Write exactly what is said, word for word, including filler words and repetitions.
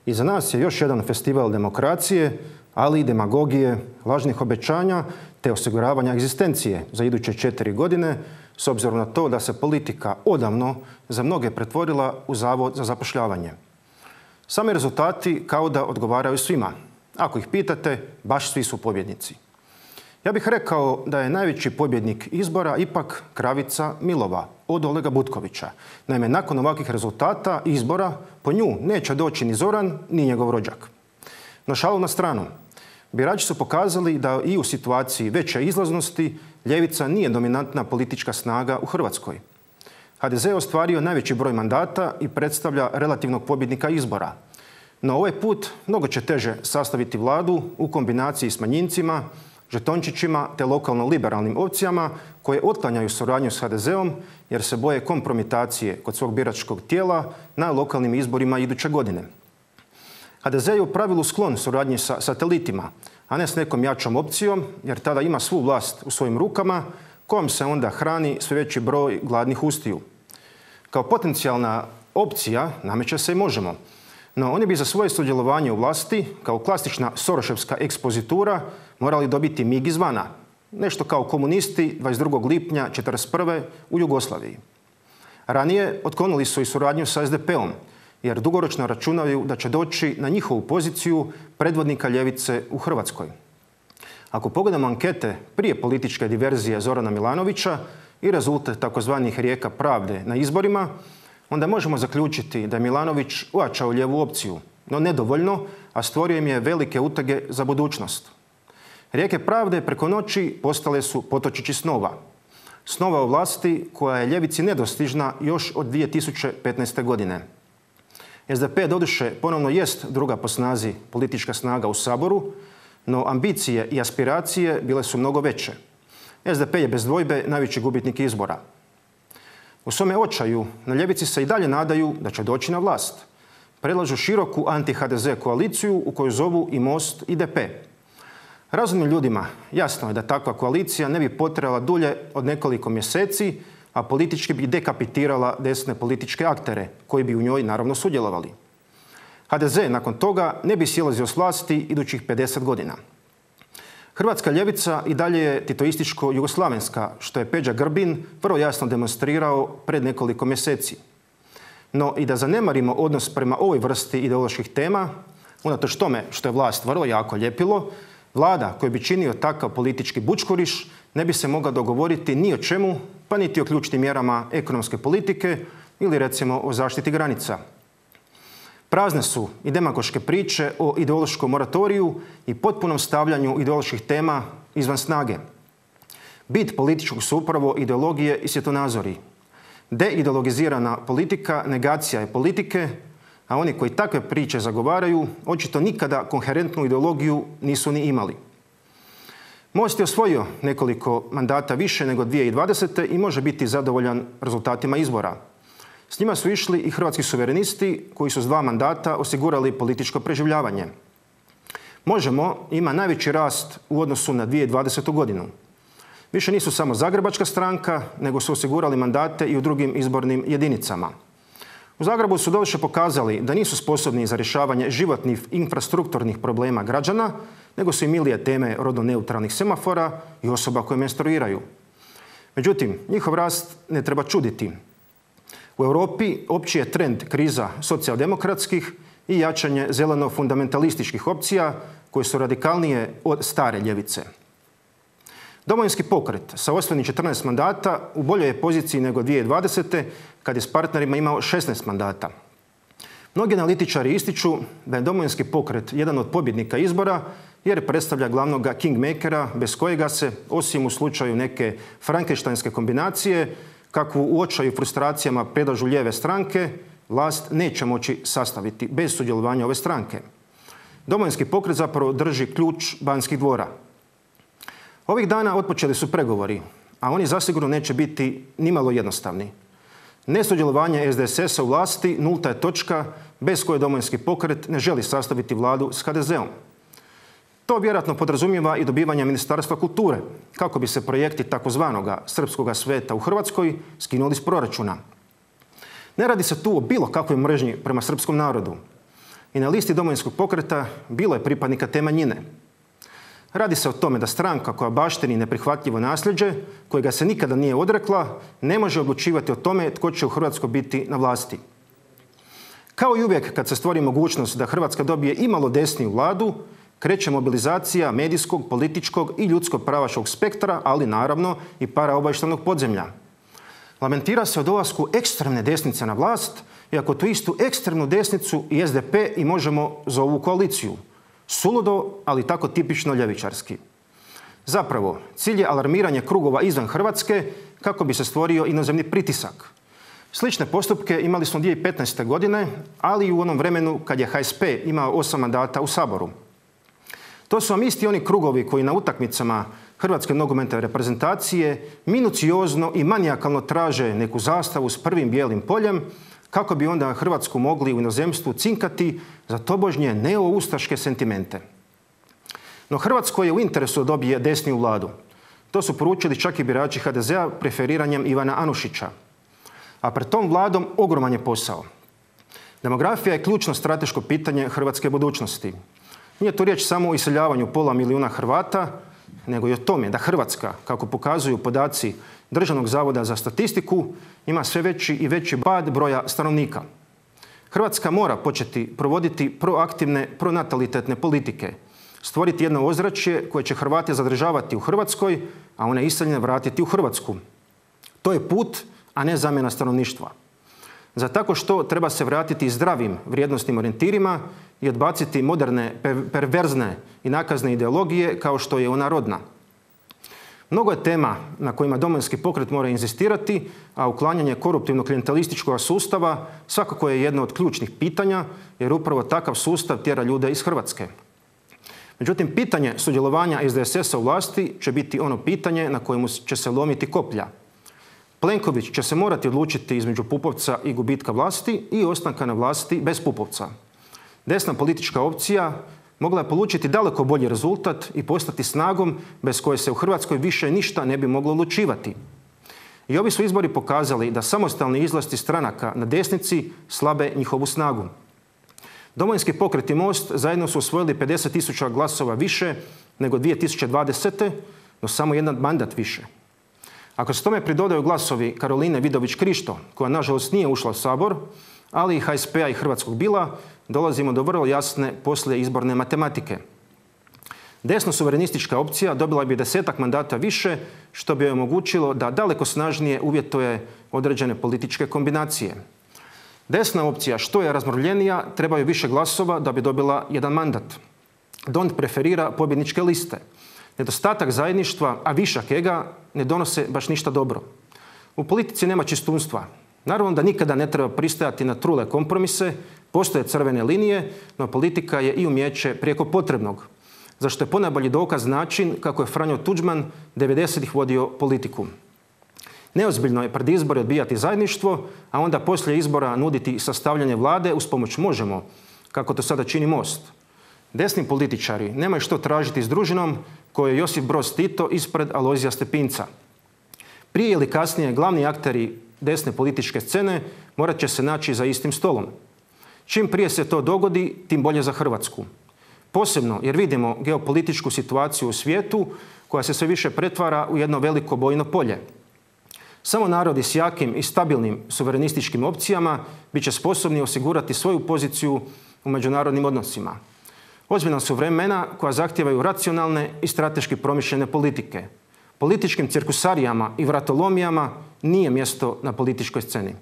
Iza nas je još jedan festival demokracije, ali i demagogije, lažnih obećanja te osiguravanja egzistencije za iduće četiri godine, s obzirom na to da se politika odavno za mnoge pretvorila u zavod za zapošljavanje. Sami rezultati kao da odgovaraju svima. Ako ih pitate, baš svi su pobjednici. Ja bih rekao da je najveći pobjednik izbora ipak kravica Milova od Olega Butkovića. Naime, nakon ovakvih rezultata izbora po nju neće doći ni Zoran, ni njegov rođak. No šalu na stranu. Birači su pokazali da i u situaciji veće izlaznosti ljevica nije dominantna politička snaga u Hrvatskoj. ha de ze je ostvario najveći broj mandata i predstavlja relativnog pobjednika izbora. No ovaj put mnogo će teže sastaviti vladu u kombinaciji s manjincima, žetončićima te lokalno-liberalnim opcijama koje otklanjaju suradnju s ha de zeom jer se boje kompromitacije kod svog biračkog tijela na lokalnim izborima iduće godine. ha de ze je u pravilu sklon suradnji sa satelitima, a ne s nekom jačom opcijom jer tada ima svu vlast u svojim rukama kojom se onda hrani sve veći broj gladnih ustiju. Kao potencijalna opcija nameće se i Možemo. No oni bi za svoje sudjelovanje u vlasti, kao klasična soroševska ekspozitura, morali dobiti mig izvana. Nešto kao komunisti dvadeset drugog lipnja četrdeset prve u Jugoslaviji. Ranije otklonili su i suradnju sa es de pe om, jer dugoročno računaju da će doći na njihovu poziciju predvodnika ljevice u Hrvatskoj. Ako pogledamo ankete prije političke diverzije Zorana Milanovića i rezultat takozvanih rijeka pravde na izborima, onda možemo zaključiti da je Milanović ojačao lijevu opciju, no nedovoljno, a stvorio im je velike utege za budućnost. Rijeke pravde preko noći postale su potočići snova. Snova o vlasti koja je ljevici nedostižna još od dvije tisuće petnaeste. godine. es de pe doduše ponovno jest druga po snazi politička snaga u Saboru, no ambicije i aspiracije bile su mnogo veće. es de pe je bez dvojbe najveći gubitnik izbora. U svome očaju na ljevici se i dalje nadaju da će doći na vlast. Predlažu široku anti-ha de ze koaliciju u koju zovu i Most i de pe. Razumnim ljudima jasno je da takva koalicija ne bi potrebala dulje od nekoliko mjeseci, a politički bi dekapitirala desne političke aktere koji bi u njoj naravno sudjelovali. ha de ze nakon toga ne bi silazio s vlasti idućih pedeset godina. Hrvatska ljevica i dalje je titoističko-jugoslavenska, što je Peđa Grbin vrlo jasno demonstrirao pred nekoliko mjeseci. No i da zanemarimo odnos prema ovoj vrsti ideoloških tema, unatoč tome što je vlast vrlo jako ljepilo, vlada koju bi činio takav politički bučkuriš ne bi se mogla dogovoriti ni o čemu, pa niti o ključnim mjerama ekonomske politike ili recimo o zaštiti granica. Prazne su i demagoške priče o ideološkom moratoriju i potpunom stavljanju ideoloških tema izvan snage. Bit političkog su upravo ideologije i svjetonazori. Deideologizirana politika negacija je politike, a oni koji takve priče zagovaraju očito nikada koherentnu ideologiju nisu ni imali. Most je osvojio nekoliko mandata više nego dvije tisuće dvadesete. i može biti zadovoljan rezultatima izbora. S njima su išli i hrvatski suverenisti koji su s dva mandata osigurali političko preživljavanje. Možemo ima najveći rast u odnosu na dvije tisuće dvadesetu. godinu. Više nisu samo zagrebačka stranka, nego su osigurali mandate i u drugim izbornim jedinicama. U Zagrebu su doduše pokazali da nisu sposobni za rješavanje životnih infrastrukturnih problema građana, nego su im milije teme rodno neutralnih semafora i osoba koje menstruiraju. Međutim, njihov rast ne treba čuditi. U Europi opći je trend kriza socijaldemokratskih i jačanje zeleno-fundamentalističkih opcija koje su radikalnije od stare ljevice. Domovinski pokret sa osvojenih četrnaest mandata u boljoj je poziciji nego dvije tisuće dvadesete. kad je s partnerima imao šesnaest mandata. Mnogi analitičari ističu da je Domovinski pokret jedan od pobjednika izbora jer predstavlja glavnog kingmakera bez kojega se, osim u slučaju neke frankenštajnske kombinacije, kakvu u očaju frustracijama predlažu lijeve stranke, vlast neće moći sastaviti bez sudjelovanja ove stranke. Domovinski pokret zapravo drži ključ Banskih dvora. Ovih dana otpočeli su pregovori, a oni zasigurno neće biti nimalo jednostavni. Nesudjelovanje es de es es-a u vlasti nulta je točka bez koje Domovinski pokret ne želi sastaviti vladu s ha de zeom. To vjerojatno podrazumijeva i dobivanje Ministarstva kulture, kako bi se projekti takozvanoga srpskoga sveta u Hrvatskoj skinuli s proračuna. Ne radi se tu o bilo kakvoj mržnji prema srpskom narodu. i na listi Domovinskog pokreta bilo je pripadnika te manjine. Radi se o tome da stranka koja baštini neprihvatljivo nasljeđe, kojega se nikada nije odrekla, ne može odlučivati o tome tko će u Hrvatskoj biti na vlasti. Kao i uvijek kad se stvori mogućnost da Hrvatska dobije imalo desniju vladu, kreće mobilizacija medijskog, političkog i ljudskog pravaškog spektra, ali naravno i paraobavještajnog podzemlja. Lamentira se o dolasku ekstremne desnice na vlast, iako tu istu ekstremnu desnicu i es de pe i Možemo zovu koaliciju. Suludo, ali tako tipično ljevičarski. Zapravo, cilj je alarmiranje krugova izvan Hrvatske kako bi se stvorio inozemni pritisak. Slične postupke imali smo dvije tisuće petnaeste. godine, ali i u onom vremenu kad je ha es pe imao osam mandata u Saboru. To su vam isti oni krugovi koji na utakmicama Hrvatske nogometne reprezentacije minuciozno i manijakalno traže neku zastavu s prvim bijelim poljem kako bi onda Hrvatsku mogli u inozemstvu cinkati za tobožnje neoustaške sentimente. No Hrvatskoj je u interesu da dobije desniju vladu. To su poručili čak i birači ha de zea preferiranjem Ivana Anušića. A pred tom vladom ogroman je posao. Demografija je ključno strateško pitanje hrvatske budućnosti. Nije to riječ samo o iseljavanju pola milijuna Hrvata, nego i o tome da Hrvatska, kako pokazuju podaci Državnog zavoda za statistiku, ima sve veći i veći pad broja stanovnika. Hrvatska mora početi provoditi proaktivne, pronatalitetne politike, stvoriti jedno ozračje koje će Hrvate zadržavati u Hrvatskoj, a one iseljene vratiti u Hrvatsku. To je put, a ne zamjena stanovništva. Za tako što treba se vratiti zdravim vrijednosnim orijentirima i odbaciti moderne, perverzne i nakazne ideologije kao što je ona rodna. Mnogo je tema na kojima Domovinski pokret mora inzistirati, a uklanjanje koruptivnog klijentelističkog sustava svakako je jedno od ključnih pitanja, jer upravo takav sustav tjera ljude iz Hrvatske. Međutim, pitanje sudjelovanja es de es esa u vlasti će biti ono pitanje na kojemu će se lomiti koplja. Plenković će se morati odlučiti između Pupovca i gubitka vlasti i ostanka na vlasti bez Pupovca. Desna politička opcija mogla je polučiti daleko bolji rezultat i postati snagom bez koje se u Hrvatskoj više ništa ne bi moglo odlučivati. I ovi su izbori pokazali da samostalni izlasti stranaka na desnici slabe njihovu snagu. Domovinski pokret i Most zajedno su osvojili pedeset tisuća glasova više nego dvije tisuće dvadesete. no samo jedan mandat više. Ako se tome pridodaju glasovi Karoline Vidović-Krišto, koja nažalost nije ušla u Sabor, ali i ha es pe-a i Hrvatskog bila, dolazimo do vrlo jasne poslije izborne matematike. Desno-suverenistička opcija dobila bi desetak mandata više, što bi joj omogućilo da daleko snažnije uvjetuje određene političke kombinacije. Desna opcija, što je razmrvljenija, trebaju više glasova da bi dobila jedan mandat. Dont preferira pobjedničke liste. Nedostatak zajedništva, a višak ega, ne donose baš ništa dobro. U politici nema čistunstva. Naravno da nikada ne treba pristajati na trule kompromise, postoje crvene linije, no politika je i umijeće prijeko potrebnog, za što je ponajbolji dokaz način kako je Franjo Tuđman devedesetih vodio politiku. Neozbiljno je pred izbore odbijati zajedništvo, a onda poslije izbora nuditi sastavljanje vlade uz pomoć Možemo, kako to sada čini Most. Desni političari nemaju što tražiti s družinom koju je Josip Broz Tito ispred Alojzija Stepinca. Prije ili kasnije glavni akteri desne političke scene morat će se naći za istim stolom. Čim prije se to dogodi, tim bolje za Hrvatsku. Posebno jer vidimo geopolitičku situaciju u svijetu koja se sve više pretvara u jedno veliko bojno polje. Samo narodi s jakim i stabilnim suverenističkim opcijama bit će sposobni osigurati svoju poziciju u međunarodnim odnosima. Ozbiljna su vremena koja zahtijevaju racionalne i strateški promišljene politike. Političkim cirkusarijama i vratolomijama nije mjesto na političkoj sceni.